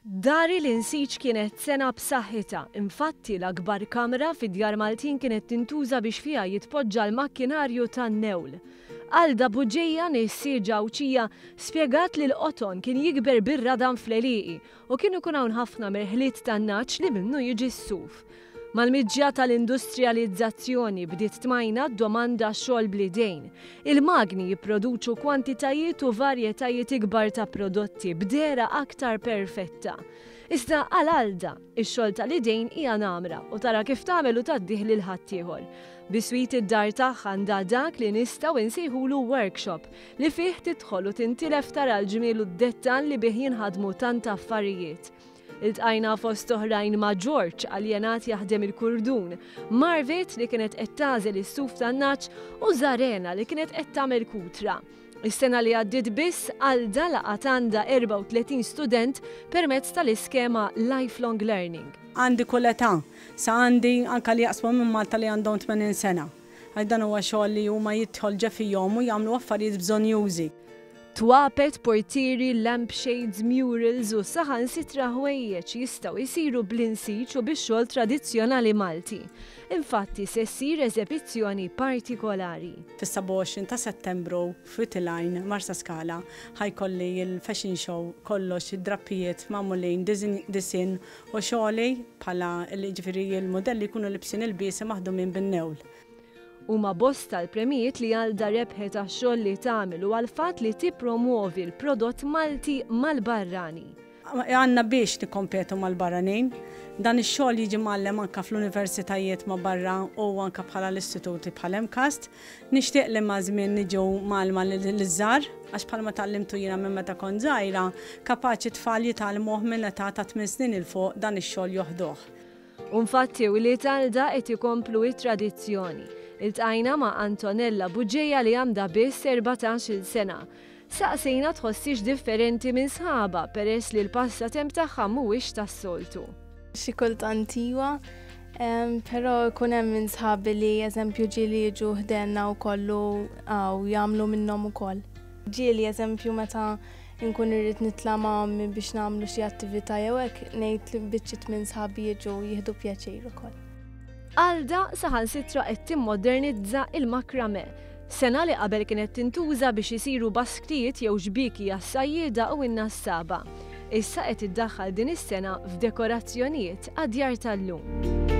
Dari l-insiġ kienet sengħa b'saħħitha, infatti l-akbar kamra fid-djar Maltin kienet tintuża biex fiha jitpoġġa l-makkinarju tan-newl. Alda Bugeja, nissieġa Għawdxija, spjegat li l-qoton kien jikber bir-radam fl-għelieqi u kien ikun hawn ħafna merħliet tan-nagħaġ li minnu jiġi s-suf. Mal-miġja tal-industrijalizzazzjoni bdiet tmajna d-domanda għax-xogħol bl-idejn. Il-magni jipproduċu kwantitajiet u varjetajiet ikbar ta' prodotti b'dehra aktar perfetta. Iżda għal Alda, ix-xogħol tal-idejn hija namra u tara kif tagħmel u tgħaddih lil ħaddieħor. Biswit id-dar tagħha għandha dak li nistgħu nsejħulu workshop li fih tidħol u tintilef tara l-ġmiel u d-dettall li bih jinħadmu tant affarijiet. Iltqajna fost oħrajn ma' George, aljenat jaħdem il-kurdun, Marvit li kienet qed tagħżel is-suf tan-nagħaġ u Zarena li kienet qed tagħmel kutra. Is-sena li għaddiet biss, Alda laqgħet għandha 34 student permezz tal-iskema Lifelong Learning. Għandi kull età, sa għandi anke li jaqsmu minn Malta li għandhom 80 sena. Għax dan huwa xogħol li huma jidħol ġa fihom u jagħmlu affarijiet bżonnjużi. Twapet, portieri, lamp shades, murals u saħansitra ħwejjeġ jistgħu jsiru bl-insiġ u bix-xogħol tradizzjonali Malti. Infatti se ssir eżebizzjoni partikolari. Fis-27 ta' Settembru f'Witilgħajn, Marsaskala, ħa jkolli l-fashion show kollox id-drappijiet magħmulin disinn u xogħli bħala jiġifieri l-mudelli jkunu libsin ilbiesi maħdumin bin-newl. Huma bosta l-premijiet li Alda rebħet għax-xogħol li tagħmel u għall-fatt li tippromwovi l-prodott Malti mal-barrani. Għandna biex nikkompetu mal-barranin. Dan ix-xogħol jiġi mgħallem anke fl-universitajiet ma' barra u anke bħala l-istituti bħal MCAST. Nixtieq li maż-żmien niġu mgħallma liż-żgħar għax bħalma tgħallimtu jiena minn meta kont żgħira, kapaċi t-tfal jitgħallmuh minn età ta' tmien snin 'il fuq dan ix-xogħol joħduh. U nfatti wlied Alda qed ikomplu it-tradizzjoni. Iltqajna ma' Antonella Bugeja li għandha biss 14-il sena. Saqsejna tħossiex differenti minn sħabha peress li l-passatemp tagħha mhuwiex tas-soltu. Xi kultant iwa, però jkun hemm minn sħabi li eżempju ġieli jiġu ħdejna wkoll u hawn jagħmlu minnhom ukoll. Ġieli eżempju meta Inkun irrid nitla' ma' ommi biex nagħmlu xi attività jew hekk, ngħid li biċċiet minn sħabi jiġu jieħdu pjaċir ukoll. Alda saħansitra qed timmodernizza il-makrame, sengħa li qabel kienet tintuża biex isiru basktijiet jew xbieki għas-sajjieda u n-nassaba. Issa qed iddaħħal din is-sengħa f'dekorazzjonijiet għad-djar tal-lum.